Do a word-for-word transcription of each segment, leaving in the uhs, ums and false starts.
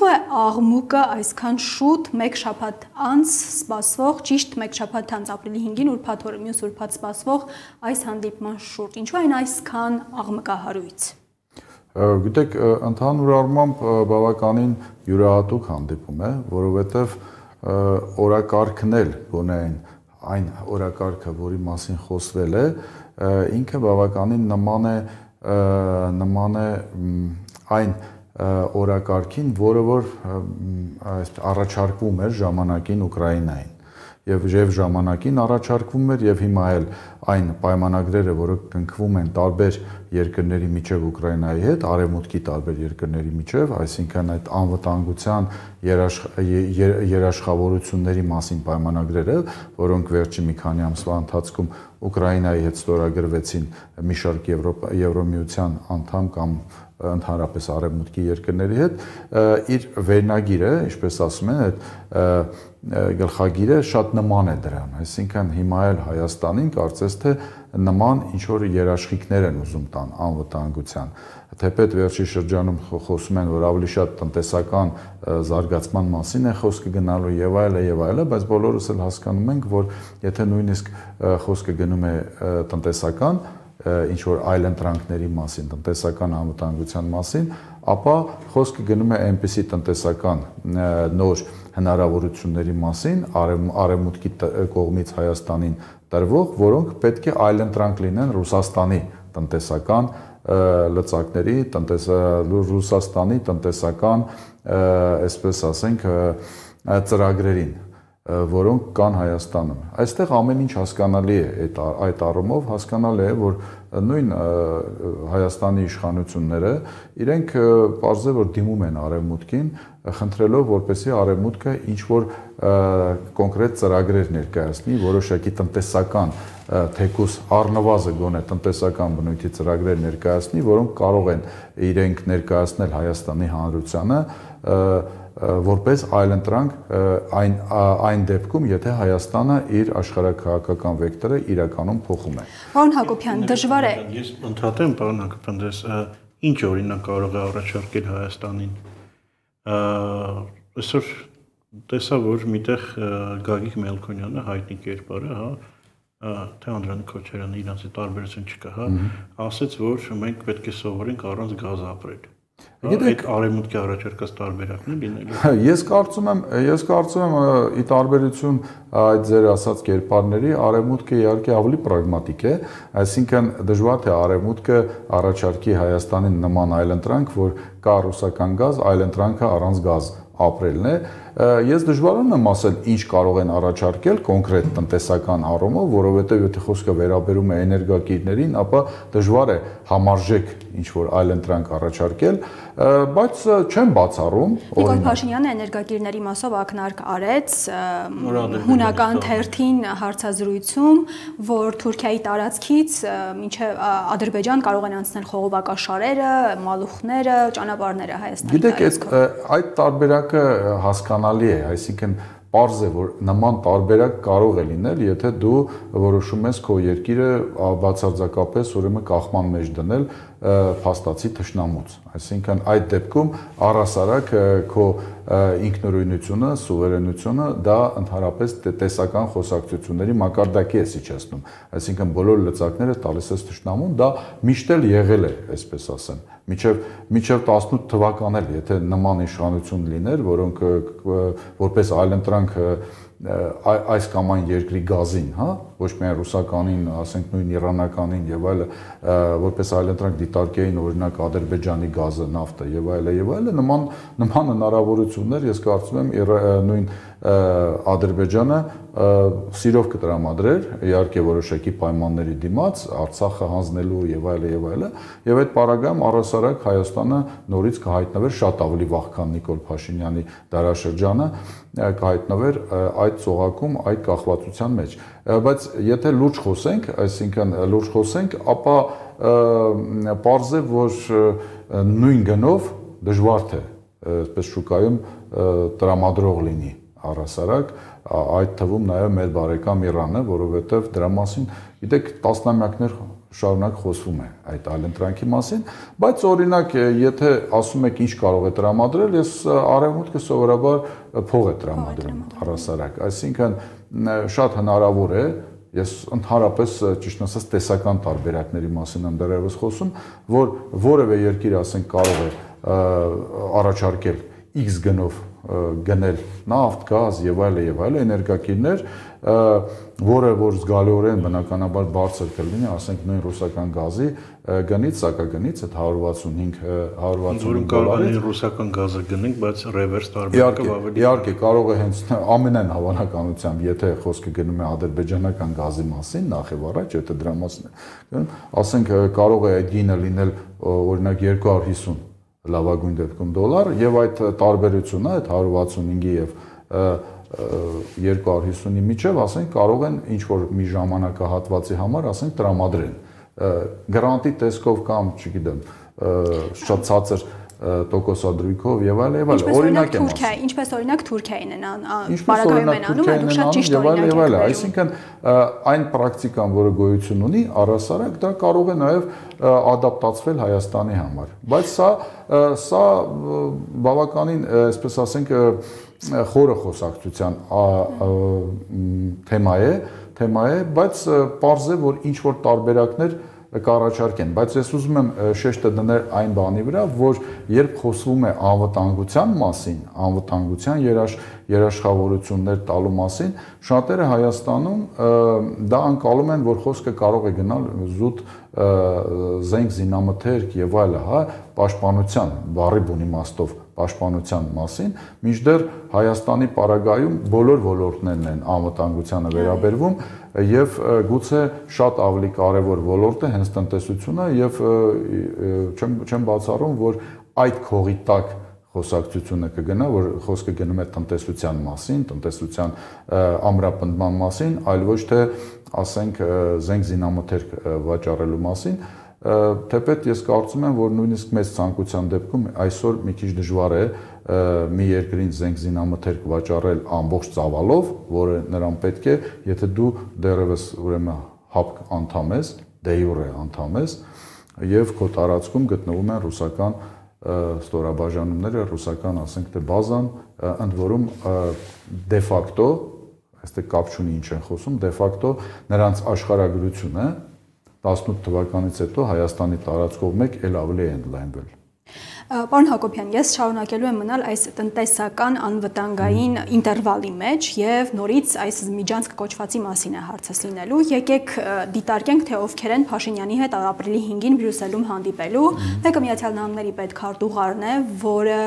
Ինչու է աղմուկը այսքան շուտ մեկ շաբաթ անց սպասվող, ճիշտ մեկ շաբաթ անց ապրիլի հինգին ուրբաթ օրը, մյուս ուրբաթ սպասվող այս հանդիպման շուրջ, ինչու այն այսքան աղմկահարույց։ Գիտեք, ընդհանուր առմամբ բավականին յուրահատուկ հանդիպում է, որովհետև օրակարգն էլ գոնե այն օրակարգը, որի մասին խոսվել է, ինքը բավականին նման է նման է այն օրակարգին, որը որ առաջարկվում էր ժամանակին Ուկրաինային եւ եւ ժամանակին առաջարկվում էր եւ հիմա էլ այն պայմանագրերը, որոնք կնքվում են տարբեր երկրների միջև Ուկրաինայի հետ, արևմուտքի տարբեր երկրների միջև, այսինքն այդ անվտանգության երաշխավորությունների մասին պայմանագրերը, որոնք վերջի մի քանի ամսվա ընթացքում Ուկրաինայի հետ ստորագրվեցին մի շարք Եվրոմիության անդամ կամ ընդհանրապես արևմուտքի երկրների հետ, իր վերնագիրը, ինչպես ասում են, այդ գլխագիրը շատ նման է դրան, այսինքն հիմա էլ Հայաստանին կարծես թե նման ինչ-որ երաշխիքներ են ուզում տան անվտանգության, թեպետ վերջի շրջանում խոսում են, որ ավելի շատ տնտեսական զարգացման մասին է խոսքը գնալու եւ այլը եւ այլը, բայց բոլորս էլ հասկանում ենք, որ եթե նույնիսկ խոսքը գնում է տնտեսական ինչ-որ այլ ընտրանքների մասին, տնտեսական անվտանգության մասին, ապա խոսքը գնում է այնպիսի տնտեսական նոր հնարավորությունների մասին, արևմուտքի կողմից Հայաստանին տրվող, որոնք պետք է այլ ընտրանք լինեն Ռուսաստանի տնտեսական լծակների, Ռուսաստանի տնտեսական, այսպես ասենք, ծրագրերին, որոնք կան Հայաստանում։ Այստեղ ամեն ինչ հասկանալի է այդ առումով, հասկանալի է, որ նույն Հայաստանի իշխանությունները իրենք պարզ է, որ դիմում են արևմուտքին, խնդրելով, որպեսզի արևմուտքը ինչ-որ կոնկրետ ծրագրեր ներկայացնի, որոշակի տնտեսական, թեկուզ առնվազն գոնե տնտեսական բնույթի ծրագրեր ներկայացնի, որոնք կարող են իրենք ներկայացնել Հայաստանի Հանրությանը որպես այլընտրանք այն այն դեպքում, եթե Հայաստանը իր աշխարհաքաղաքական վեկտորը իրականում փոխում է։ Պարոն Հակոբյան, դժվար է։ Ես ընդհատեմ, պարոն Հակոբյան, դες ինչ օրինակ կարող է առաջարկել Հայաստանին։ Այսօր տեսա, որ միտեղ Գագիկ Մելքոնյանը հայտնի կերպարը, հա, թե Անդրանիկ Քոչարյանը իրանց տարբերություն չկա, հա, ասաց, որ մենք պետք է սովորենք առանց գազ ապրել։ Գիտեք, արևմուտքի առաջարկած տարբերակն է լինելու։ Ես կարծում եմ, ես կարծում եմ ի տարբերություն այդ ձեր ասած կերպարների, արևմուտքը իհարկե ավելի պրագմատիկ է, այսինքն դժվար թե արևմուտքը առաջարկի Հայաստանին նման այլընտրանք, որ կա ռուսական գազ, այլընտրանքը առանց գազ ապրելն է։ Ես դժվարանում եմ ասել ինչ կարող են առաջարկել կոնկրետ տնտեսական առումով, որովհետև եթե խոսքը վերաբերում է էներգակիրներին, ապա դժվար է համարժեք ինչ-որ այլընտրանք առաջարկել, բայց չեմ բացառում։ Նիկոլ Փաշինյանը էներգակիրների մասով ակնարկ արեց հունական թերթին հարցազրույցում, որ Թուրքիայի տարածքից մինչև Ադրբեջան կարող են անցնել խողովակաշարերը, մալուխները, ճանապարհները Հայաստանի։ Գիտեք, այդ տարբերակը հասկանալի է, այսինքն պարզ է, որ նման տարբերակ կարող է լինել, եթե դու որոշում ես քո երկիրը բացարձակապես ուրեմն կախման մեջ դնել փաստացի թշնամուց, այսինքն այդ դեպքում առհասարակ քո ինքնուրույնությունը, սուվերենությունը դա ընդհանրապես տեսական խոսակցությունների մակարդակի է իջեցնում, այսինքն բոլոր լծակները տալիս ես թշնամուն, դա միշտ էլ եղել է, այսպես ասեմ, մինչև մինչև տասնութ թվական էլ, եթե նման իշխանություն լիներ, որոնք որպես այլընտրանք այս կամ այն երկրի գազին, հա, ոչ միայն ռուսականին, ասենք նույն իրանականին եւ այլը, որպես այլընտրանք դիտարկեին օրինակ Ադրբեջանի գազը, նավթը եւ այլը եւ այլը, նման նման հնարավորություններ ես կարծում եմ նույն Ադրբեջանը սիրով կտրամադրեր, իհարկե որոշակի պայմանների դիմաց, Արցախը հանձնելու եւ այլը եւ այլը, եւ այդ պարագայում առհասարակ Հայաստանը նորից կհայտնվեր շատ ավելի վաղ, քան Նիկոլ Փաշինյանի դարաշրջանը, կհայտնվեր այդ ծողակում, այդ կախվածության մեջ։ Բայց եթե լուրջ խոսենք, այսինքն լուրջ խոսենք, ապա պարզ է, որ նույն գնով դժվար թե այսպես շուկայում տրամադրող լինի առհասարակ, այդ թվում նաև մեր բարեկամ Իրանը, որովհետև դրա մասին, գիտեք, տասնամյակներ շարունակ խոսվում է այդ այլընտրանքի մասին, բայց օրինակ եթե ասում եք ինչ կարող է տրամադրել, ես արևմուտքը սովորաբար փող է տրամադրում առհասարակ, այսինքն շատ հնարավոր է, ես ընդհանրապես ճիշտ ասած տեսական տարբերակների մասին եմ դեռևս խոսում, որ որևէ երկիր ասենք կարող է առաջարկել X գնով գնել նավթ, գազ եւ այլ եւ այլ էներգակիրներ, որը որ զգալիորեն բնականաբար բարձր կլինի, ասենք նույն ռուսական գազի գնից, սակագնից այդ հարյուր վաթսունհինգ հարյուր վաթսունհինգ դոլարից ռուսական գազը գնենք, բայց ռևերս տարբերակը ավելի իհարկե կարող է հենց ամենայն հավանականությամբ, եթե խոսքը գնում է ադրբեջանական գազի մասին, նախ եւ առաջ, եթե դրա մասին է, ասենք կարող է այդ գինը լինել օրինակ երկու հարյուր հիսուն լավագույն դեպքում դոլար եւ այդ տարբերությունը այդ հարյուր վաթսունհինգի եւ երկու հարյուր հիսունի միջև, ասենք կարող են ինչ որ մի ժամանակահատվածի համար, ասենք տրամադրեն գրանտի տեսքով կամ, չգիտեմ, շատ ցածր տոկոսադրույքով եւ այլ եւ այլ օրինակ եմ ասում ինչպես օրինակ Թուրքիային են բարակայում են անում այդ շատ ճիշտ օրինակ է այսինքն այն պրակտիկան որը գոյություն ունի առհասարակ դա կարող է նաեւ ադապտացվել Հայաստանի համար բայց սա սա բավականին այսպես ասենք խորը խոսակցության թեմա է թեմա է բայց պարզ է որ ինչ որ տարբերակներ կառաջարկեն, բայց ես ուզում եմ շեշտը դնել այն բանի վրա, որ երբ խոսվում է անվտանգության մասին, անվտանգության երաշխ, երաշխավորություններ տալու մասին, շատերը Հայաստանում դա անցալում են, որ խոսքը կարող է գնալ զուտ զենք զինամթերք եւ այլը, հա, պաշտպանության, բառի բուն իմաստով պաշտպանության մասին, մինչդեռ Հայաստանի պարագայում բոլոր ոլորտներն են անվտանգությանը վերաբերվում եւ գուցե շատ ավելի կարեւոր ոլորտ է հենց տնտեսությունը եւ չեմ չեմ բացառում որ այդ քողի տակ խոսակցությունը կգնա որ խոսքը գնում է տնտեսության մասին, տնտեսության ամրապնդման մասին, այլ ոչ թե ասենք զենք զինամթերք վաճառելու մասին, թեպետ ես կարծում եմ որ նույնիսկ մեծ ցանկության դեպքում այսօր մի քիչ դժվար է մի երկրին զենք զինամթերք վաճառել ամբողջ ծավալով, որը նրան պետք է, եթե դու դեռևս ուրեմն հապկ անդամ ես, դե յուրե անդամ ես եւ քո տարածքում գտնվում են ռուսական ստորաբաժանումները, ռուսական, ասենք թե բազան, ընդ որում դե ֆակտո, այստեղ կապ չունի ինչ են խոսում, դե ֆակտո նրանց աշխարհագրությունը տասնութ թվականից հետո Հայաստանի տարածքով մեկ էլ ավելի է ընդլայնվել։ Պարոն Հակոբյան, ես շարունակելու եմ մնալ այս տնտեսական անվտանգային ինտերվալի մեջ եւ նորից այս միջանցք կոչվածի մասին է հարցս լինելու։ Եկեք դիտարկենք, թե ովքեր են Փաշինյանի հետ ապրիլի հինգին Բրյուսելում հանդիպելու։ Մեկը Միացյալ Նահանգների պետքարտուղարն է, որը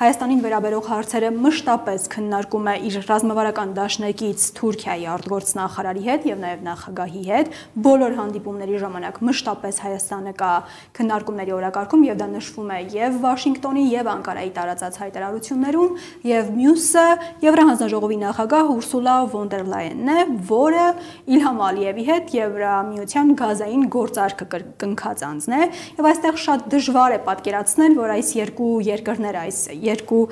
Հայաստանին վերաբերող հարցերը մշտապես քննարկում է իր ռազմավարական դաշնակից Թուրքիայի արտգործնախարարի հետ եւ նաեւ նախագահի հետ։ Բոլոր հանդիպումների ժամանակ մշտապես Հայաստանը կա քննարկումների օրակարգում եւ դա նշվում է եւ Վաշինգտոնի եւ Անկարայի տարածած հայտարարություններում եւ մյուսը Եվրահանձնաժողովի նախագահ Ուրսուլա վոն դեր Լայենն է, որը Իլհամ Ալիևի հետ Եվրամիության գազային գործարքը կնքած անձն է եւ այստեղ շատ դժվար է պատկերացնել, որ այս երկու երկրները, այս երկու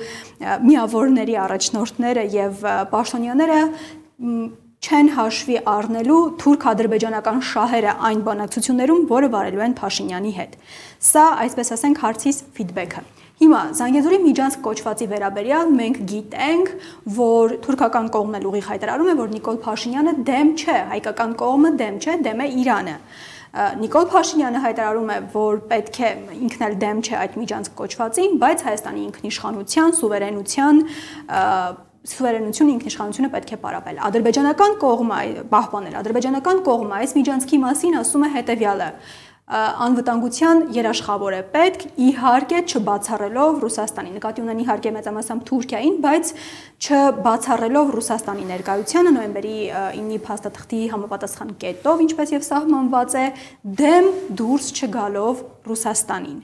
միավորների առաջնորդները եւ պաշտոնյաները չեն հաշվի առնելու թուրք-ադրբեջանական շահերը այն բանակցություններում, որը վարելու են Փաշինյանի հետ։ Սա, այսպես ասենք, հարցից ֆիդբեքը։ Հիմա Զանգեզուրի միջանցք կոչվածի վերաբերյալ մենք գիտենք, որ թուրքական կողմն էլ ուղիղ հայտարարում է, որ Նիկոլ Փաշինյանը դեմ չէ, հայկական կողմը դեմ չէ, դեմ է Իրանը։ Նիկոլ Փաշինյանը հայտարարում է, որ պետք է ինքն էլ դեմ չէ այդ միջանցք կոչվածին, բայց Հայաստանի ինքնիշխանության, սուվերենության սուվերենությունը, ինքնիշխանությունը պետք է պարապել։ Ադրբեջանական կողմը պահպանել, ադրբեջանական կողմը այս միջանցքի մասին ասում է հետևյալը. անվտանգության երաշխավոր է պետք, իհարկե չբացառելով Ռուսաստանի, նկատի ունեն իհարկե մեծամասամբ Թուրքիային, բայց չբացառելով Ռուսաստանի ներկայությանը նոյեմբերի ինի փաստաթղթի համապատասխան կետով, ինչպես եւ սահմանված է, դեմ դուրս չգալով Ռուսաստանին։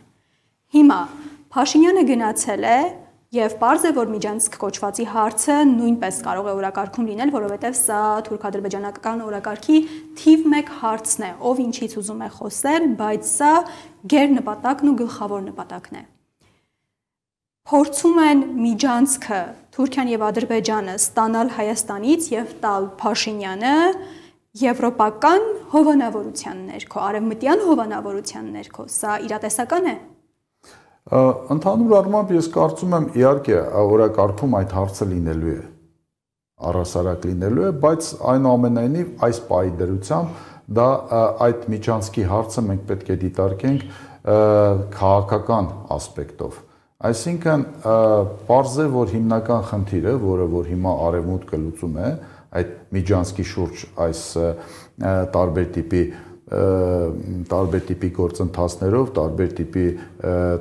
Հիմա Փաշինյանը գնացել է Եվ պարզ է, որ միջանցք կոչվածի հարցը նույնպես կարող է օրակարգում լինել, որովհետև սա թուրք-ադրբեջանական օրակարգի թիվ մեկ հարցն է, ով ինչից ուզում է խոսել, բայց սա գերնպատակն ու գլխավոր նպատակն է։ Փորձում են միջանցքը Թուրքիան եւ Ադրբեջանը ստանալ Հայաստանից եւ տալ Փաշինյանը եվրոպական հովանավորության ներքո, արևմտյան հովանավորության ներքո, սա իրատեսական է։ Ընդհանուր առմամբ ես կարծում եմ, իհարկե, օրակարգում այդ հարցը լինելու է, առհասարակ լինելու է, բայց այնուամենայնիվ այս պահի դրությամբ դա այդ միջանցքի հարցը մենք պետք է դիտարկենք քաղաքական ասպեկտով։ Այսինքն, պարզ է, որ հիմնական խնդիրը, որը որ հիմա արևմուտքը լուծում է, այդ միջանցքի շուրջ այս տարբեր տիպի տարբեր տիպի գործընթացներով, տարբեր տիպի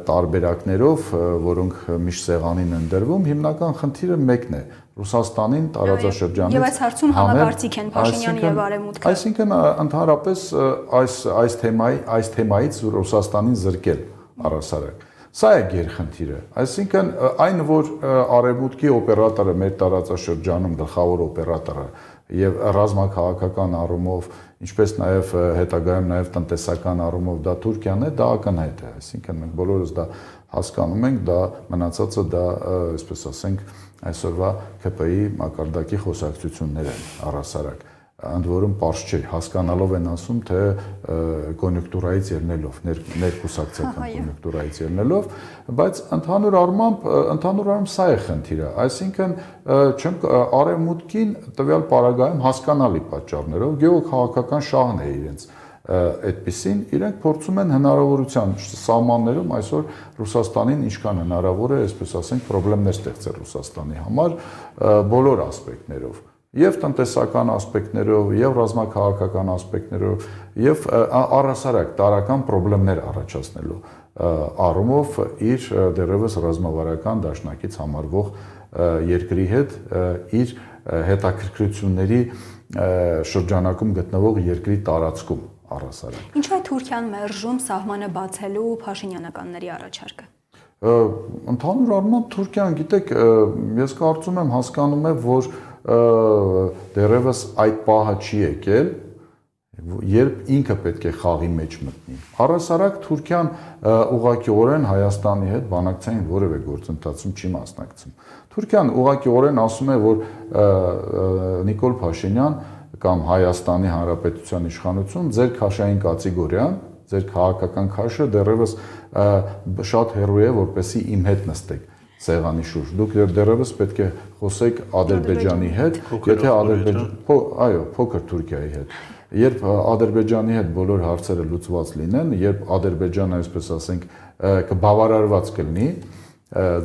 տարբերակներով, որոնք միշտ սեղանին են դրվում, հիմնական խնդիրը մեկն է՝ Ռուսաստանին տարածաշրջանից եւ այս հարցում համակարծիք են Փաշինյանը եւ Արևմուտքը։ Այսինքն, ընդհանրապես այս այս թեմայի այս թեմայից Ռուսաստանին զրկել առհասարակ։ Սա է գերխնդիրը։ Այսինքն, այն որ Արևմուտքի օպերատորը մեր տարածաշրջանում գլխավոր օպերատորը եւ ռազմաքաղաքական առումով, ինչպես նաեւ հետագայում նաեւ տնտեսական առումով դա Թուրքիան է, դա ակնհայտ է։ Այսինքն մենք բոլորս դա հասկանում ենք, դա մնացածը դա, այսպես ասենք, այսօրվա K P I մակարդակի խոսակցություններ են առհասարակ։ Ընդ որում պարզ չէ, հասկանալով են ասում, թե կոնյունկտուրայից ելնելով, ներկուսակցական կոնյունկտուրայից ելնելով, բայց ընդհանուր առմամբ, ընդհանուր առմամբ սա է խնդիրը, այսինքն չեմ արևմուտքին տվյալ պարագայում հասկանալի պատճառներով գեոքաղաքական շահն է իրենց այդպիսին, իրենք փորձում են հնարավորության սահմաններում այսօր Ռուսաստանին ինչքան հնարավոր է, այսպես ասենք, խնդիրներ ստեղծել Ռուսաստանի համար բոլոր ասպեկտներով, եւ տնտեսական ասպեկտներով, եւ ռազմաքաղաքական ասպեկտներով, եւ առհասարակ տարական խնդիրներ առաջացնելու առումով իր դեռևս ռազմավարական դաշնակից համարվող երկրի հետ իր հետաքրքրությունների շրջանակում գտնվող երկրի տարածքում առհասարակ։ Ինչու է Թուրքիան մերժում սահմանը բացելու Փաշինյանականների առաջարկը։ Ընդհանուր առմամբ Թուրքիան, գիտեք, ես կարծում եմ հասկանում է, որ դեռևս այդ պահը չի եկել, երբ ինքը պետք է խաղի մեջ մտնի։ Առհասարակ Թուրքիան ուղղակիորեն Հայաստանի հետ բանակցային որևէ գործընթացում չի մասնակցում։ Թուրքիան ուղղակիորեն ասում է, որ Նիկոլ Փաշինյան կամ Հայաստանի Հանրապետության իշխանություն ձեր քաշային կատեգորիան, ձեր քաղաքական քաշը դեռևս շատ հեռու է, որպեսզի իմ հետ նստեք սեղանի շուրջ։ Դուք դեռևս պետք է խոսեք Ադրբեջանի հետ, եթե Ադրբեջան, այո, փոքր Թուրքիայի հետ։ Երբ Ադրբեջանի հետ բոլոր հարցերը լուծված լինեն, երբ Ադրբեջանը, այսպես ասենք, կբավարարված կլինի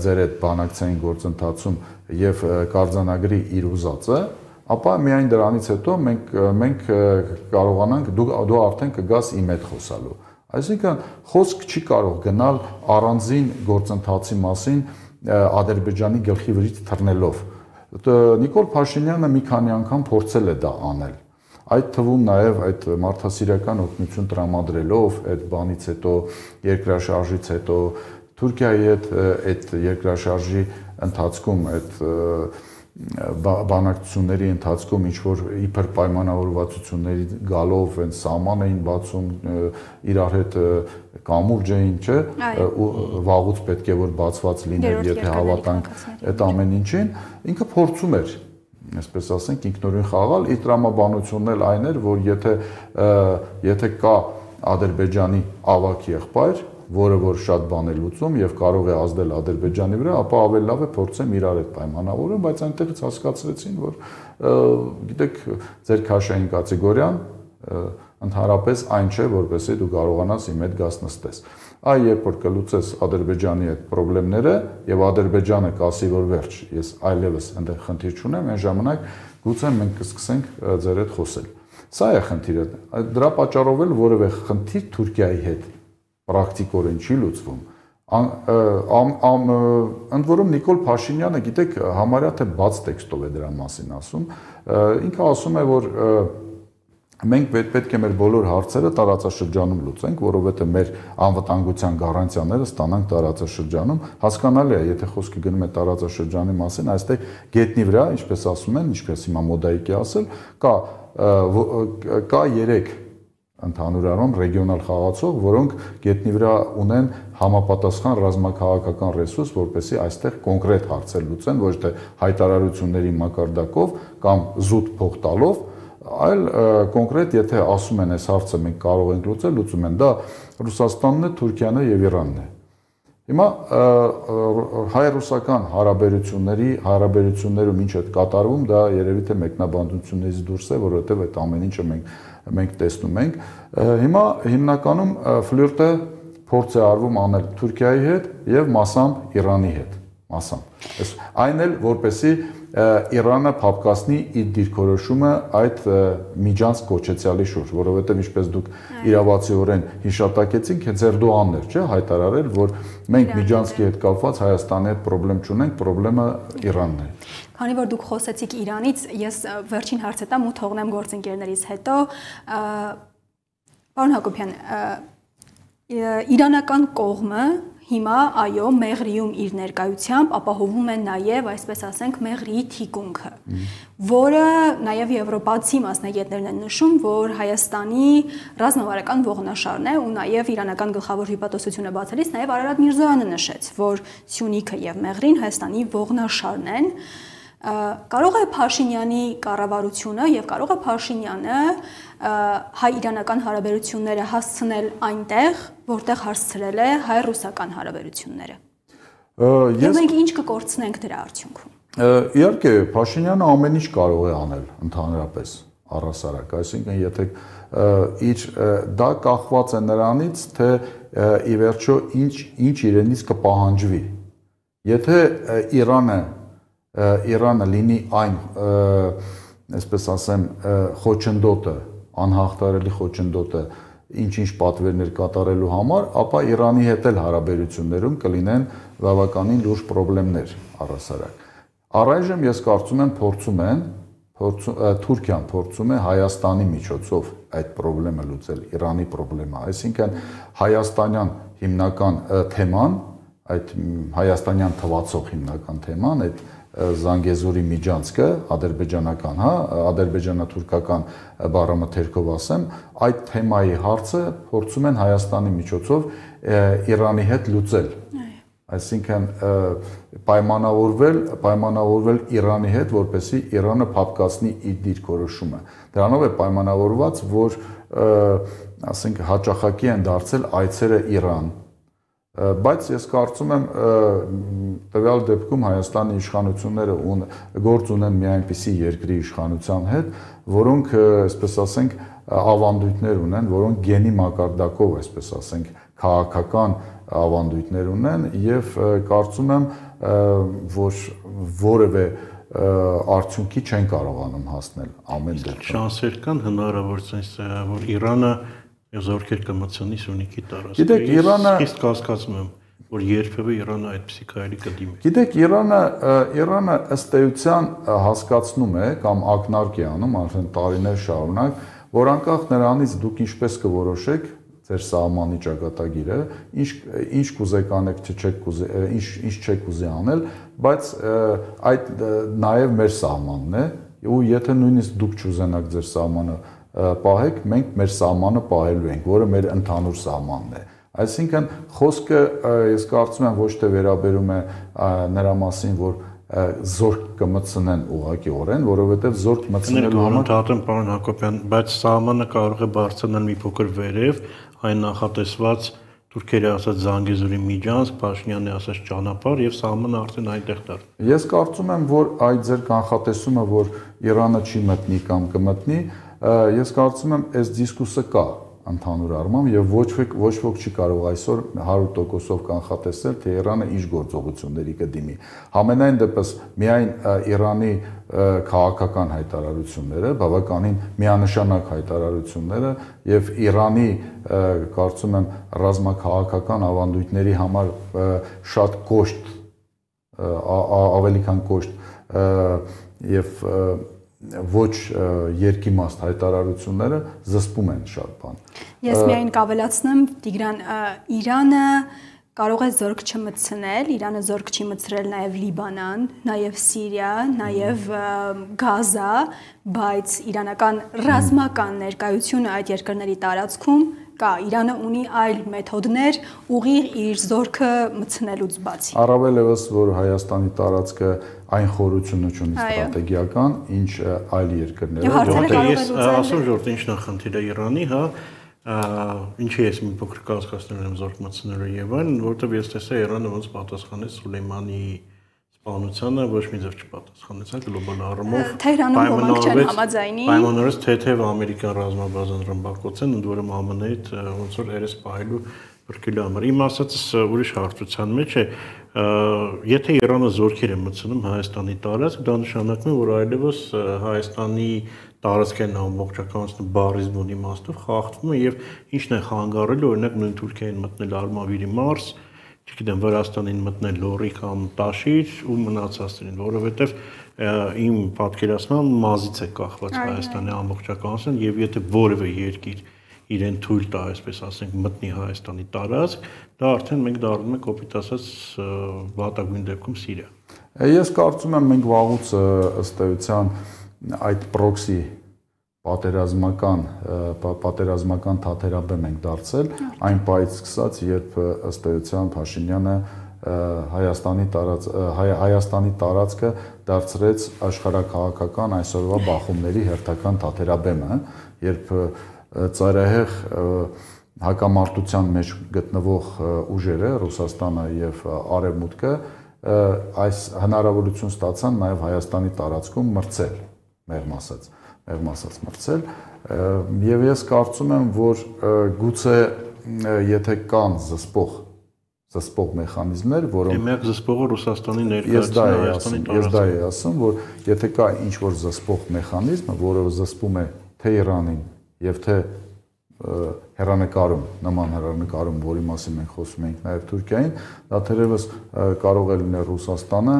ձեր այդ բանակցային գործընթացում եւ կարձանագրի իր ուզածը, ապա միայն դրանից հետո մենք մենք կարողանանք դու դու արդեն կգաս իմ հետ խոսալու։ Այսինքն խոսք չի կարող գնալ առանձին գործընթացի մասին Ադրբեջանի գլխի վրից թռնելով։ Նիկոլ Փաշինյանը մի քանի անգամ փորձել է դա անել։ Այդ թվում նաև այդ մարդասիրական օգնություն տրամադրելով, այդ բանից հետո, երկրաշարժից հետո Թուրքիայի հետ այդ երկրաշարժի ընթացքում, այդ բանակցությունների ընթացքում ինչ որ իբր պայմանավորվածությունների գալով են սահման էին բացում, իրար հետ կամուրջ էին, չէ, ու վաղուց պետք է որ բացված լիներ, եթե հավատանք այդ ամեն ինչին, ինքը փորձում էր, այսպես ասենք, ինքնուրույն խաղալ, իր տրամաբանությունն էլ այն էր, որ եթե եթե կա Ադրբեջանի ավագ եղբայր, որը որ շատ բան է լուծում եւ կարող է ազդել Ադրբեջանի վրա, ապա ավելի լավ է փորձեմ իրար հետ պայմանավորում, բայց այնտեղից հասկացրեցին, որ գիտեք, ձեր քաշային կատեգորիան ընդհանրապես այն չէ, որպեսզի դու կարողանաս իմ հետ գաս նստես։ Այ երբ որ կլուծես Ադրբեջանի այդ խնդիրները եւ Ադրբեջանը կասի, որ վերջ, ես այլևս այնտեղ խնդիր չունեմ, այն ժամանակ գուցե մենք կսկսենք ձեր հետ խոսել։ Սա է խնդիրը։ Դրա պատճառով էլ որևէ խնդիր Թուրքիայի հետ պրակտիկորեն չի լուծվում։ Ընդ որում Նիկոլ Փաշինյանը, գիտեք, համարյա թե բաց տեքստով է դրա մասին ասում, ինքը ասում է, որ մենք պետք է մեր բոլոր հարցերը տարածաշրջանում լուծենք, որովհետև մեր անվտանգության գարանտիաները ստանանք տարածաշրջանում։ Հասկանալի է, եթե խոսքը գնում է տարածաշրջանի մասին, այստեղ գետնի վրա, ինչպես ասում են, ինչպես հիմա մոդայիկ է ասել, կա կա երեք ընդհանուր առմամբ ռեգիոնալ խաղացող, որոնք գետնի վրա ունեն համապատասխան ռազմաքաղաքական ռեսուրս, որպեսզի այստեղ կոնկրետ հարցեր լուծեն, ոչ թե հայտարարությունների մակարդակով կամ զուտ փող տալով, այլ կոնկրետ եթե ասում են այս հարցը մենք կարող ենք լուծել, լուծում են, դա Ռուսաստանն է, Թուրքիան է եւ Իրանն է։ Հիմա հայ-ռուսական հարաբերությունների հարաբերություններում ինչ է կատարվում, դա երևի թե մեկնաբանություններից դուրս է, որովհետեւ այդ ամեն ինչը մենք մենք տեսնում ենք։ Հիմա հիմնականում ֆլիրտը փորձ է արվում անել Թուրքիայի հետ եւ մասամբ Իրանի հետ, մասամբ։ Այն էլ որպեսի Իրանը փապկացնի իր դիրքորոշումը այդ միջանց կոչեցյալի շուրջ, որովհետև ինչպես դուք իրավացիորեն հիշատակեցինք, հենց Էրդողանն էր, չէ, հայտարարել, որ մենք միջանցքի հետ կապված Հայաստանի հետ խնդրեմ չունենք, խնդրեմը Իրանն է։ Քանի որ դուք խոսեցիք Իրանից, ես վերջին հարցը տամ ու թողնեմ գործընկերներից հետո, պարոն Հակոբյան, իրանական կողմը հիմա այո Մեղրիում իր ներկայությամբ ապահովում է նաև, այսպես ասենք, Մեղրիի թիկունքը, որը նաև եվրոպացի մասնագետներն են նշում, որ Հայաստանի ռազմավարական ողնաշարն է ու նաև իրանական գլխավոր հյուպատոսությունը բացելիս նաև Արարատ Միրզոյանը նշեց, որ Սյունիքը եւ Մեղրին Հայաստանի ողնաշարն են։ Կարող է Փաշինյանի կառավարությունը եւ կարող է Փաշինյանը հայ-իրանական հարաբերությունները հասցնել այնտեղ, որտեղ հասցրել է հայ-ռուսական հարաբերությունները։ Եվ մենք ինչ կկորցնենք դրա արդյունքում։ Իհարկե, Փաշինյանը ամեն ինչ կարող է անել ընդհանրապես առհասարակ, այսինքն եթե իր դա կախված է նրանից, թե ի վերջո ինչ ինչ իրենից կպահանջվի։ Եթե Իրանը Իրանը լինի այն, այսպես ասեմ, խոչընդոտը, անհաղթարելի խոչընդոտը, ինչ-ինչ պատվերներ կատարելու համար, ապա Իրանի հետ էլ հարաբերություններում կլինեն բավականին լուրջ խնդիրներ առհասարակ։ Առայժմ ես կարծում եմ փորձում են, Թուրքիան փորձում է Հայաստանի միջոցով այդ խնդիրը լուծել, Իրանի խնդիրը, այսինքն հայաստանյան հիմնական թեման, այդ հայաստանյան թվացող հիմնական թեման, այդ Զանգեզուրի միջանցքը, ադրբեջանական, հա, ադրբեջանա-թուրքական բառամթերքով ասեմ, այդ թեմայի հարցը փորձում են Հայաստանի միջոցով Իրանի հետ լուծել։ Այսինքն պայմանավորվել, պայմանավորվել Իրանի հետ, որպեսզի Իրանը փապկացնի իր դիրքորոշումը։ Դրանով է պայմանավորված, որ ասենք հաճախակի են դարձել այցերը Իրան։ Բայց ես կարծում եմ տվյալ դեպքում Հայաստանի իշխանությունները գործ ունեն մի այնպիսի երկրի իշխանության հետ, որոնք, այսպես ասենք, ավանդույթներ ունեն, որոնք գենի մակարդակով, այսպես ասենք, քաղաքական ավանդույթներ ունեն եւ կարծում եմ, որ որևէ արդյունքի չեն կարողանում հասնել ամեն դեպքում։ Շանսեր կան հնարավորություն, որ Իրանը զորքեր կմտցնի Սյունիքի տարածքը։ Գիտեք, Իրանը իսկ կասկածում եմ, որ երբևէ Իրանը այդպիսի քայլի կդիմի։ Գիտեք, Իրանը Իրանը ըստ էության հասկացնում է կամ ակնարկ է անում արդեն տարիներ շարունակ, որ անկախ նրանից դուք ինչպես կորոշեք ձեր սահմանի ճակատագիրը, ինչ ինչ կուզեք անեք, չեք կուզե, ինչ ինչ չեք ուզի անել, բայց այդ նաև մեր սահմանն է, ու եթե նույնիսկ դուք չուզենաք ձեր սահմանը պահեք, մենք մեր սահմանը պահելու ենք, որը մեր ընդհանուր սահմանն է։ Այսինքն խոսքը ես կարծում եմ ոչ թե վերաբերում է նրա մասին, որ զորք կմտցնեն ուղղակիորեն, որովհետև զորք մտցնելու համար ընդհանրապես պարոն Հակոբյան, բայց սահմանը կարող է բարձրանալ մի փոքր վերև, այն նախատեսված Թուրքերը ասած Զանգեզուրի միջանցք, Փաշինյանը ասած ճանապարհ եւ սահմանը արդեն այնտեղ դար։ Ես կարծում եմ, որ այդ ձեր կանխատեսումը, որ Իրանը չի մտնի կամ կմտնի, ես կարծում եմ, այս դիսկուսը կա ընդհանուր առմամբ եւ ոչ ոք ոչ ոք չի կարող այսօր հարյուր տոկոսով կանխատեսել, թե Իրանը ինչ գործողությունների կդիմի։ Համենայն դեպս միայն Իրանի քաղաքական հայտարարությունները, բավականին միանշանակ հայտարարությունները եւ Իրանի կարծում եմ ռազմաքաղաքական ավանդույթների համար շատ կոշտ ավելի քան կոշտ եւ ոչ երկիմաստ հայտարարությունները զսպում են շատ բան։ Ես միայն կավելացնեմ, Տիգրան, Իրանը կարող է զորք չմտցնել, Իրանը զորք չի մտցրել նաև Լիբանան, նաև Սիրիա, նաև Գազա, բայց իրանական ռազմական ներկայությունը այդ երկրների տարածքում կա, Իրանը ունի այլ մեթոդներ ուղիղ իր զորքը մտցնելուց բացի։ Առավել եւս որ Հայաստանի տարածքը այն խորությունը ունի ստրատեգիական, ինչ այլ երկրները։ Ես ասում ժողովուրդ ինչն է խնդիրը Իրանի, հա, ինչի ես մի փոքր կասկածներ եմ զորք մտցնելու եւ այն, որովհետեւ ես տեսա Իրանը ոնց պատասխանեց Սուլեյմանի սպանությանը, ոչ մի ձև չպատասխանեց, այն գլոբալ առումով պայմանավորեց թեթև ամերիկյան ռազմաբազան ռմբակոծեն, ընդ որում ԱՄՆ-ի հետ ոնց որ երես պահելու բրկելու համար։ Իմ ասածս ուրիշ հարցության մեջ է, եթե Իրանը զորքեր է մտցնում Հայաստանի տարածք, դա նշանակում է, որ այլևս Հայաստանի տարածքային ամբողջականությունը բառի բուն իմաստով խախտվում է եւ ինչն է խանգարելու, օրինակ նույն Թուրքիային մտնել Արմավիրի Մարս, չգիտեմ, Վրաստանին մտնել Լոռի կամ Տաշիր ու մնացածներին, որովհետեւ իմ պատկերացման մազից է կախված Հայաստանի ամբողջականությունը եւ եթե որևէ երկիր իրեն թույլ տա, այսպես ասենք, մտնի Հայաստանի տարածք, դա արդեն մենք դառնում ենք կոպիտ ասած վատագույն դեպքում Սիրիա։ Ես կարծում եմ մենք վաղուց ըստ էության այդ պրոքսի պատերազմական պատերազմական թաթերաբեմ ենք դարձել այն պայից սկսած, երբ ըստ էության Փաշինյանը Հայաստանի տարած Հայաստանի տարածքը դարձրեց աշխարհաքաղաքական այսօրվա բախումների հերթական թաթերաբեմը, երբ ծայրահեղ հակամարտության մեջ գտնվող ուժերը Ռուսաստանը եւ Արևմուտքը այս հնարավորություն ստացան նաեւ Հայաստանի տարածքում մրցել, մեղմ ասած, մեղմ ասած մրցել եւ ես կարծում եմ, որ գուցե եթե կան զսպող զսպող մեխանիզմներ, որոնք Միակ զսպողը Ռուսաստանի ներկայացումը Հայաստանի տարածքում։ Ես դա եմ ասում, որ եթե կա ինչ-որ զսպող մեխանիզմ, որը զսպում է թե Իրանին եւ թե հեռանկարում, նման հեռանկարում, որի մասին մենք խոսում ենք նաև Թուրքիային, դա թերևս կարող է լինել Ռուսաստանը,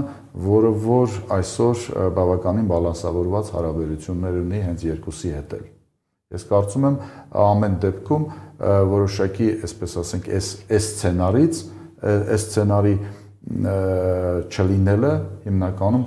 որը որ այսօր բավականին բալանսավորված հարաբերություններ ունի հենց երկուսի հետ էլ։ Ես կարծում եմ ամեն դեպքում որոշակի, այսպես ասենք, այս այս սցենարից, այս սցենարի չլինելը հիմնականում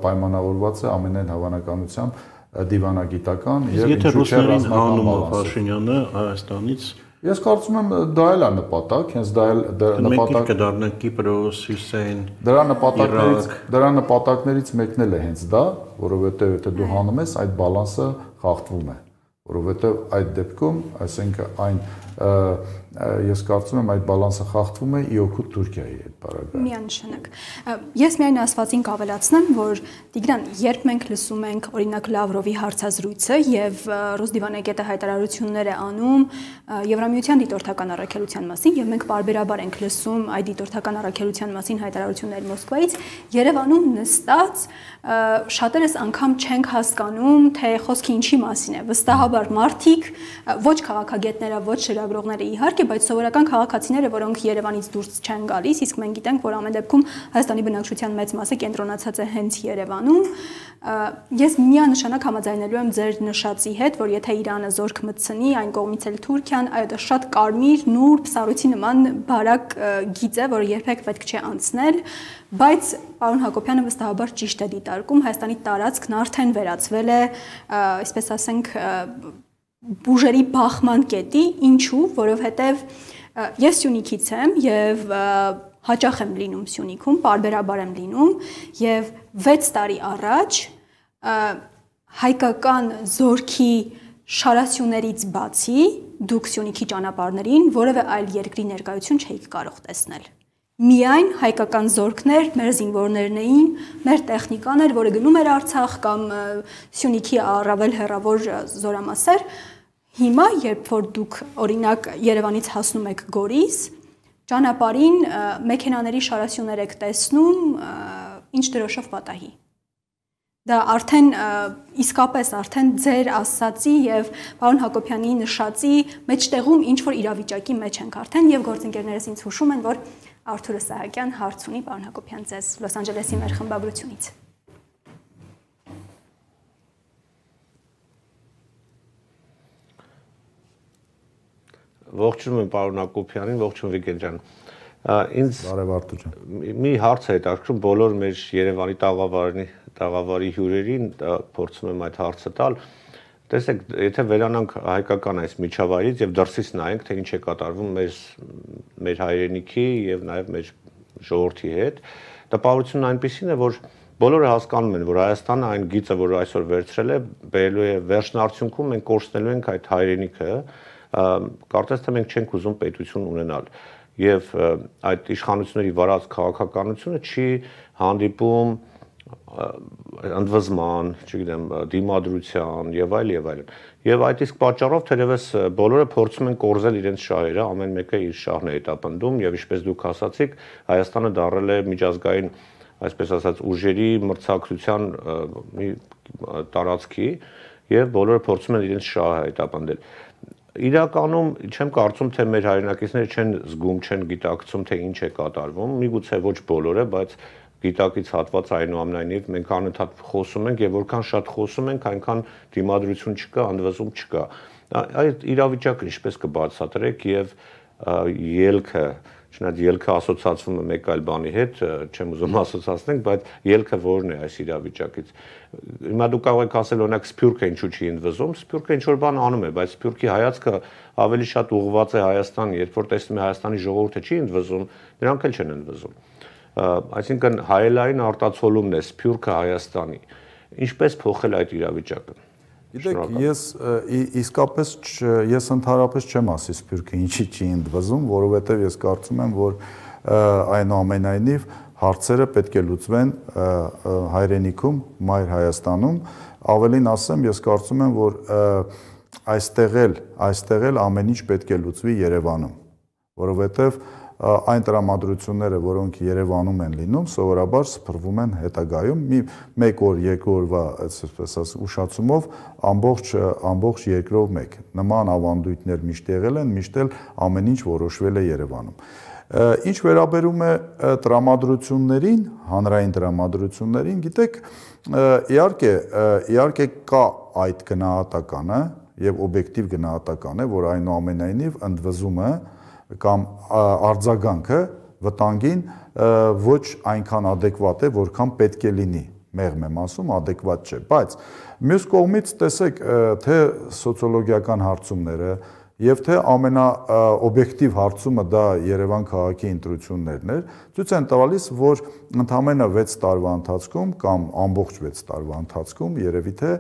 պայմանավորված է ամենայն հավանականությամբ դիվանագիտական եւ ինչու՞ չէ ռազմական Փաշինյանը Հայաստանից։ Ես կարծում եմ դա էլ է նպատակ, հենց դա էլ նպատակ կդառնա Կիպրոս, Հյուսեյն։ Դրա նպատակներից դրա նպատակներից մեկն էլ է հենց դա, որովհետեւ եթե դու հանում ես, այդ բալանսը խախտվում է, որովհետեւ այդ դեպքում, այսինքն այն ես կարծում եմ այդ բալանսը խախտվում է ի օգուտ Թուրքիայի հետ բարակայում։ Միանշանակ։ Ես միայն ասվածին կավելացնեմ, որ Տիգրան, երբ մենք լսում ենք օրինակ Լավրովի հարցազրույցը եւ ռուս դիվանագետը հայտարարություններ է անում Եվրամիության դիտորդական առաքելության մասին եւ մենք բարբերաբար ենք լսում այդ դիտորդական առաքելության մասին հայտարարություններ Մոսկվայից, Երևանում նստած շատերս անգամ չենք հասկանում, թե խոսքը ինչի մասին է։ Վստահաբար մարդիկ, ոչ քաղաքագետները, ոչ շրջագրողները իհարկե, բայց սովորական քաղաքացիները, որոնք Երևանից դուրս չեն գալիս, իսկ մենք գիտենք, որ ամեն դեպքում Հայաստանի բնակչության մեծ մասը կենտրոնացած է հենց Երևանում, ես միանշանակ համաձայնելու եմ ձեր նշածի հետ, որ եթե Իրանը զորք մտցնի, այն կողմից էլ Թուրքիան, այո, դա շատ կարմիր, նուրբ, սառույցի նման բարակ գիծ է, որը երբեք պետք չէ անցնել, բայց պարոն Հակոբյանը վստահաբար ճիշտ է դիտարկում, Հայաստանի տարածքն արդեն վերածվել է, այսպես ասենք, բուժերի բախման կետի, ինչու, որովհետև ես Սյունիքից եմ եւ հաճախ եմ լինում Սյունիքում, պարբերաբար եմ լինում եւ վեց տարի առաջ հայկական զորքի շարասյուներից բացի դուք Սյունիքի ճանապարհներին որևէ այլ երկրի ներկայություն չէիք կարող տեսնել։ Միայն հայկական զորքներ, մեր զինվորներն էին, մեր տեխնիկան էր, որը գնում էր Արցախ կամ Սյունիքի առավել հեռավոր զորամասեր։ Հիմա, երբ որ դուք օրինակ Երևանից հասնում եք Գորիս, ճանապարհին մեքենաների շարասյուներ եք տեսնում, ինչ դրոշով պատահի։ Դա արդեն իսկապես արդեն ձեր ասացի եւ պարոն Հակոբյանի նշածի մեջտեղում ինչ որ իրավիճակի մեջ ենք արդեն եւ գործընկերներս ինձ հուշում են, որ Արթուր Սահակյան հարց ունի պարոն Հակոբյան ձեզ Լոս Անջելեսի մեր խմբագրությունից։ Ողջունում եմ պարոն Հակոբյանին, ողջույն Վիգեն ջան։ Ինձ Բարև Արթուր ջան։ Մի հարց է հետաքրքրում բոլոր մեր Երևանի տաղավարի տաղավարի հյուրերին, փորձում եմ այդ հարցը տալ։ Տեսեք, եթե վերանանք հայկական այս միջավայրից եւ դրսից նայենք, թե ինչ է կատարվում մեր մեր հայրենիքի եւ նաեւ մեր ժողովրդի հետ, տպավորությունն այնպեսին է, որ բոլորը հասկանում են, որ Հայաստանը այն գիծը, որ այսօր վերցրել է, բերելու է վերջնարդյունքում մենք կորցնելու ենք այդ հայրենիքը, կարծես թե մենք չենք ուզում պետություն ունենալ եւ այդ իշխանությունների վարած քաղաքականությունը չի հանդիպում ընդվզման, չգիտեմ, դիմադրության եւ այլ եւ այլն։ Եվ այդ իսկ պատճառով թերևս բոլորը փորձում են կորզել իրենց շահերը, ամեն մեկը իր շահն է հետապնդում եւ ինչպես դուք ասացիք, Հայաստանը դառել է միջազգային, այսպես ասած, ուժերի մրցակցության մի տարածքի եւ բոլորը փորձում են իրենց շահը հետապնդել։ Իրականում չեմ կարծում, թե մեր հայրենակիցները չեն զգում, չեն գիտակցում, թե ինչ է կատարվում, միգուցե ոչ բոլորը, բայց գիտակից հատված այնուամենայնիվ մենք անընդհատ խոսում ենք եւ որքան շատ խոսում ենք, այնքան դիմադրություն չկա, ընդվզում չկա։ Այդ իրավիճակը ինչպես կբացատրեք եւ ելքը, չնայած ելքը ասոցացվում է մեկ այլ բանի հետ, չեմ ուզում ասոցացնենք, բայց ելքը որն է այս իրավիճակից։ Հիմա դուք կարող եք ասել, օրինակ Սփյուռքը ինչու չի ընդվզում, Սփյուռքը ինչ որ բան անում է, բայց Սփյուռքի հայացքը ավելի շատ ուղղված է Հայաստան, երբ որ տեսնում է Հայաստանի ժողովուրդը չի ընդվզում, նրանք էլ չեն ընդվզում։ Այսինքն հայելային արտացոլումն է Սփյուռքը Հայաստանի։ Ինչպես փոխել այդ իրավիճակը։ Գիտեք, ես իսկապես ես ընդհանրապես չեմ ասի Սփյուռքը ինչի չի ընդվզում, որովհետև ես կարծում եմ, որ այնուամենայնիվ հարցերը պետք է լուծվեն հայրենիքում, մայր Հայաստանում, ավելին ասեմ, ես կարծում եմ, որ այստեղ էլ, այստեղ էլ ամեն ինչ պետք է լուծվի Երևանում, որովհետև այն տրամադրությունները, որոնք Երևանում են լինում, սովորաբար սփռվում են հետագայում մի մեկ օր, երկու օրվա, այսպես ասած, ուշացումով ամբողջ ամբողջ երկրով մեկ։ Նման ավանդույթներ միշտ եղել են, միշտ էլ ամեն ինչ որոշվել է Երևանում։ Ինչ վերաբերում է տրամադրություններին, հանրային տրամադրություններին, գիտեք, իհարկե, իհարկե կա այդ գնահատականը եւ օբյեկտիվ գնահատական է, որ այնուամենայնիվ ընդվզումը կամ արձագանքը վտանգին ոչ այնքան adekvat է, որքան պետք է լինի, մեղմ եմ ասում, adekvat չէ, բայց մյուս կողմից տեսեք, թե սոցիոլոգիական հարցումները եւ թե ամենաօբյեկտիվ հարցումը դա Երևան քաղաքի ընտրություններն էր, ցույց են տալիս, որ ընդամենը վեց տարվա ընթացքում կամ ամբողջ վեց տարվա ընթացքում երևի թե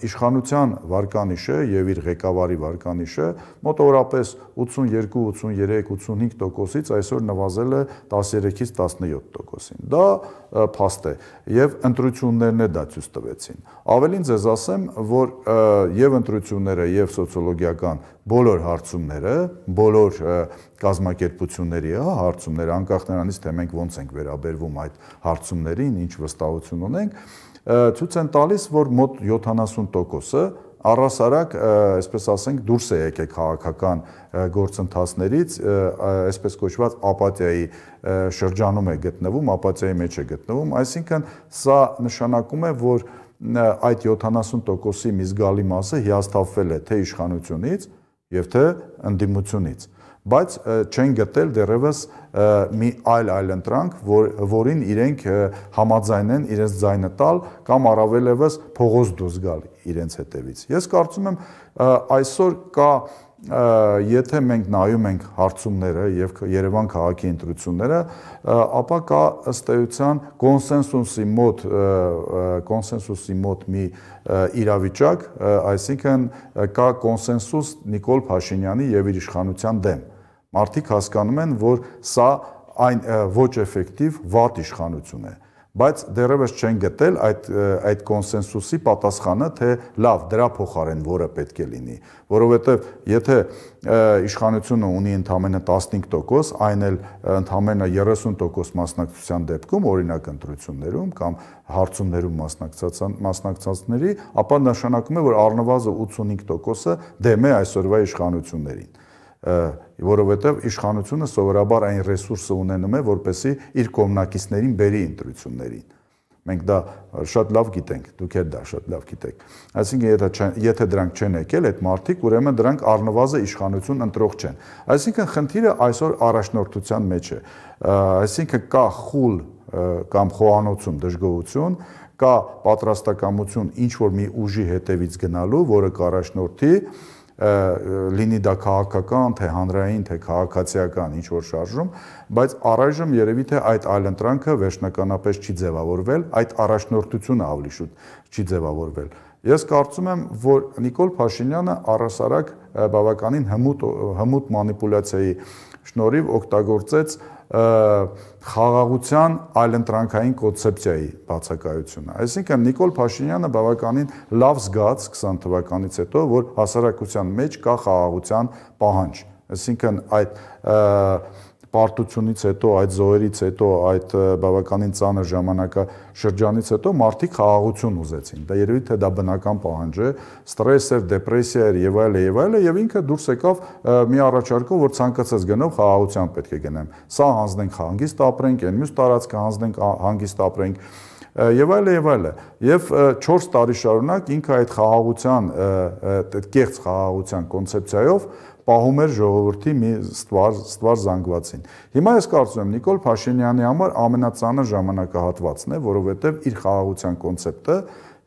իշխանության վարկանիշը եւ իր ղեկավարի վարկանիշը մոտավորապես ութսունյոթ, ութսունյուրեք, ութսունհինգ տոկոսից այսօր նվազել է տասներեքից տասնյոթ տոկոսին։ Դա փաստ է եւ ընտրություններն է դա ցույց տվեցին։ Ավելին ձեզ ասեմ, որ եւ ընտրությունները եւ սոցիոլոգիական բոլոր հարցումները, բոլոր կազմակերպությունների հարցումները, անկախ նրանից, թե մենք ոնց ենք վերաբերվում այդ հարցումներին, ինչ վստահություն ունենք, ցույց են տալիս, որ մոտ յոթանասուն տոկոսը առհասարակ, այսպես ասենք, դուրս է եկել քաղաքական գործընթացներից, այսպես կոչված ապաթիայի շրջանում է գտնվում, ապաթիայի մեջ է գտնվում, այսինքն սա նշանակում է, որ այդ յոթանասուն տոկոսի մի զգալի մասը հիասթափվել է թե իշխանությունից եւ թե ընդդիմությունից, բայց չեն գտել դեռևս մի այլ այլ ընտրանք, որ, որին իրենք համաձայն են իրենց ձայնը տալ կամ առավելևս փողոց դուրս գալ իրենց հետևից։ Ես կարծում եմ այսօր կա, եթե մենք նայում ենք հարցումները եւ Երևան քաղաքի ընտրությունները, ապա կա ըստ էության կոնսենսուսի մոտ կոնսենսուսի մոտ մի իրավիճակ, այսինքն կա կոնսենսուս Նիկոլ Փաշինյանի եւ իր իշխանության դեմ։ Մարդիկ հասկանում են, որ սա այն ոչ էֆեկտիվ վատ իշխանություն է, բայց դեռևս չեն գտել այդ այդ կոնսենսուսի պատասխանը, թե լավ, դրա փոխարեն որը պետք է լինի, որովհետև եթե իշխանությունը ունի ընդամենը տասնհինգ տոկոս, այն էլ ընդամենը երեսուն տոկոս մասնակցության դեպքում, օրինակ ընտրություններում կամ հարցումներում մասնակցածների, ապա նշանակում է, որ առնվազն ութսունհինգ տոկոսը դեմ է այսօրվա իշխանություններին, որովհետև իշխանությունը սովորաբար այն ռեսուրսը ունենում է, որպեսզի իր կողմնակիցներին բերի ընտրություններին։ Մենք դա շատ լավ գիտենք, դուք էլ դա շատ լավ գիտեք։ Այսինքն եթե եթե դրանք չեն եկել, այդ մարդիկ ուրեմն դրանք առնվազն իշխանություն ընտրող չեն։ Այսինքն խնդիրը այսօր առաջնորդության մեջ է։ Այսինքն կա խուլ կամ խոհանոցում դժգոհություն, կա պատրաստակամություն ինչ որ մի ուժի հետևից գնալու, որը կառաջնորդի լինի դա քաղաքական, թե հանրային, թե քաղաքացիական ինչ որ շարժում, բայց առայժմ երևի թե այդ այլընտրանքը վերջնականապես չի ձևավորվել, այդ առաջնորդությունը ավելի շուտ չի ձևավորվել։ Ես կարծում եմ, որ Նիկոլ Փաշինյանը առհասարակ բավականին հմուտ հմուտ մանիպուլյացիայի շնորհիվ օգտագործեց խաղաղության այլընտրանքային կոնցեպցիայի բացակայությունը։ Այսինքն Նիկոլ Փաշինյանը բավականին լավ զգաց քսան թվականից հետո, որ հասարակության մեջ կա խաղաղության պահանջ։ Այսինքն այդ պարտությունից հետո, այդ զոհերից հետո, այդ բավականին ծանր ժամանակաշրջանից հետո մարդիկ խաղաղություն ուզեցին։ Դա երևի թե դա բնական պահանջ է, ստրես էր, դեպրեսիա էր եւ այլն եւ այլն, եւ ինքը դուրս եկավ մի առաջարկով, որ ցանկացած գնով խաղաղության պետք է գնեմ։ Սա հանձնենք հանգիստ ապրենք, այն մյուս տարածքը հանձնենք հանգիստ ապրենք եւ այլն եւ այլն։ Եվ չորս տարի շարունակ ինքը այդ խաղաղության, այդ կեղծ խաղաղության կոնցեպցիայով պահում էր ժողովրդի մի ստվար ստվար զանգվածին։ Հիմա ես կարծում եմ Նիկոլ Փաշինյանի համար ամենածանր ժամանակահատվածն է, որովհետև իր խաղաղության կոնցեպտը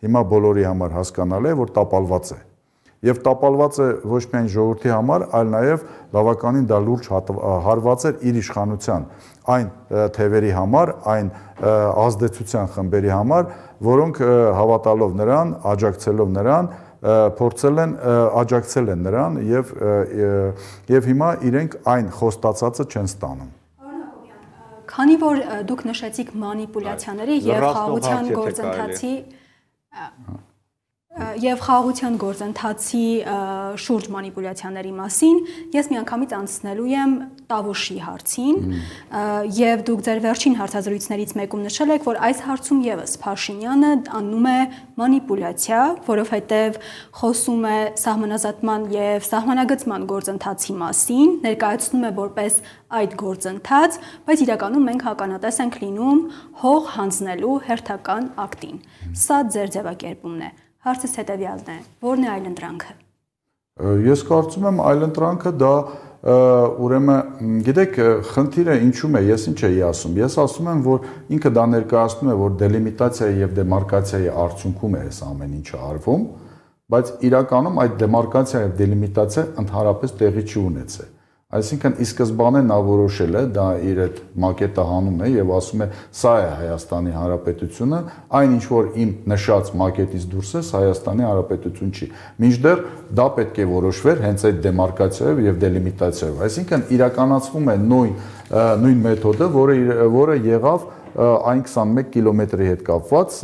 հիմա բոլորի համար հասկանալի է, որ տապալված է։ Եվ տապալված է ոչ միայն ժողովրդի համար, այլ նաև բավականին դա լուրջ հարված էր իր իշխանության այն թևերի համար, այն ազդեցության խմբերի համար, որոնք հավատալով նրան, աջակցելով նրան, փորձել են աջակցել են նրան եւ եւ հիմա իրենք այն խոստացածը չեն ստանում։ Քանի որ դուք նշեցիք մանիպուլյացիաների եւ խաղաղության գործընթացի Եվ խաղաղության գործընթացի շուրջ մանիպուլյացիաների մասին ես միանգամից անցնելու եմ Տավուշի հարցին եւ դուք ձեր վերջին հարցազրույցներից մեկում նշել եք, որ այս հարցում եւս Փաշինյանը անում է մանիպուլյացիա, որովհետեւ խոսում է սահմանազատման եւ սահմանագծման գործընթացի մասին, ներկայացնում է որպես այդ գործընթաց, բայց իրականում մենք հականատես ենք լինում հող հանձնելու հերթական ակտին։ Սա ձեր ձևակերպումն է։ Հարցս հետևյալն է. Որն է այլընտրանքը։ Ես կարծում եմ այլընտրանքը դա ուրեմն գիտեք խնդիրը ինչու՞մ է, ես ինչ էի ասում։ Ես ասում եմ, որ ինքը դա ներկայացնում է, որ դելիմիտացիայի եւ դեմարկացիայի արդյունքում է այս ամեն ինչը արվում, բայց իրականում այդ դեմարկացիա եւ դելիմիտացիա ընդհանրապես տեղի չի ունեցել։ Այսինքն ի սկզբանե նա որոշել է, դա իր այդ մակետը հանում է եւ ասում է սա է Հայաստանի Հանրապետությունը, այն ինչ որ իմ նշած մակետից դուրս է Հայաստանի Հանրապետություն չի։ Մինչդեռ դա պետք է որոշվեր հենց այդ դեմարկացիայով եւ դելիմիտացիայով։ Այսինքն իրականացվում է նույն նույն մեթոդը, որը որը եղավ այն քսանմեկ կիլոմետրի հետ կապված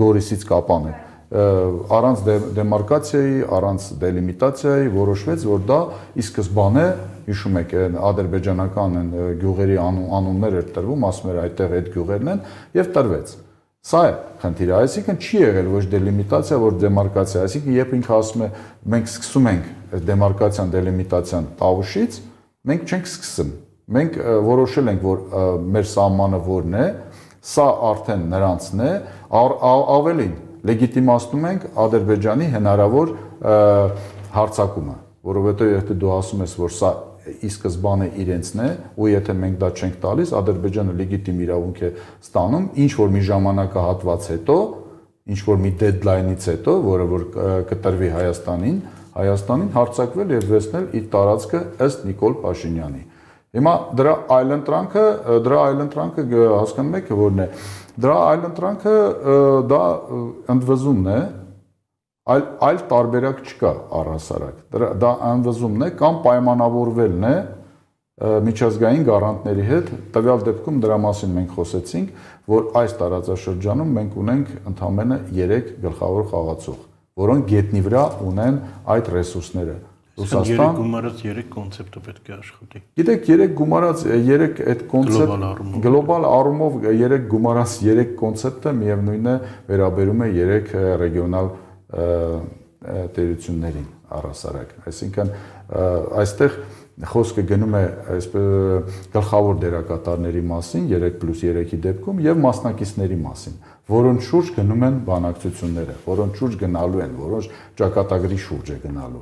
Գորիսից Կապան է։ Առանց դեմարկացիայի, առանց դելիմիտացիայի որոշվեց, որ դա ի սկզբանե, հիշում եք, ադրբեջանական գյուղերի անուններ էր տրվում, ասում էր այդտեղ այդ գյուղերն են եւ տրվեց։ Սա է խնդիրը, այսինքն չի եղել ոչ դելիմիտացիա, ոչ դեմարկացիա, այսինքն երբ ինքը ասում է մենք սկսում ենք դեմարկացիան, դելիմիտացիան Տավուշից, մենք չենք սկսում։ Մենք որոշել ենք, որ մեր սահմանը որն է, սա արդեն նրանցն է, ավելին լեգիտիմացնում ենք Ադրբեջանի հնարավոր հարձակումը, որովհետև եթե դու ասում ես, որ սա ի սկզբանե իրենցն է, ու եթե մենք դա չենք տալիս, Ադրբեջանը լեգիտիմ իրավունք է ստանում, ինչ որ մի ժամանակահատված հետո, ինչ որ մի դեդլայնից հետո, որը որ կտրվի Հայաստանին, Հայաստանին հարձակվել եւ վերցնել իր տարածքը ըստ Նիկոլ Փաշինյանի։ Հիմա դրա այլընտրանքը, դրա այլընտրանքը հասկանում եք որն է։ Դրա այլընտրանքը դա ընդվզումն է, այլ այլ տարբերակ չկա առհասարակ։ Դրա դա ընդվզումն է կամ պայմանավորվելն է միջազգային գարանտների հետ։ Տվյալ դեպքում դրա մասին մենք խոսեցինք, որ այս տարածաշրջանում մենք ունենք ընդամենը երեք գլխավոր խաղացող, որոնք գետնի վրա ունեն այդ ռեսուրսները։ Ռուսաստան գումարած երեք կոնցեպտը պետք է աշխատի։ Գիտեք, երեք գումարած երեք այդ կոնցեպտ գլոբալ առումով երեք գումարած երեք կոնցեպտը միևնույնն է վերաբերում է երեք ռեգիոնալ տերություններին առհասարակ։ Այսինքն այստեղ խոսքը գնում է այսպես գլխավոր դերակատարների մասին, երեք պլյուս երեքի դեպքում եւ մասնակիցների մասին։ որոնց շուրջ գնում են բանակցությունները, որոնց շուրջ գնալու են, որոնց ճակատագրի շուրջ է գնալու։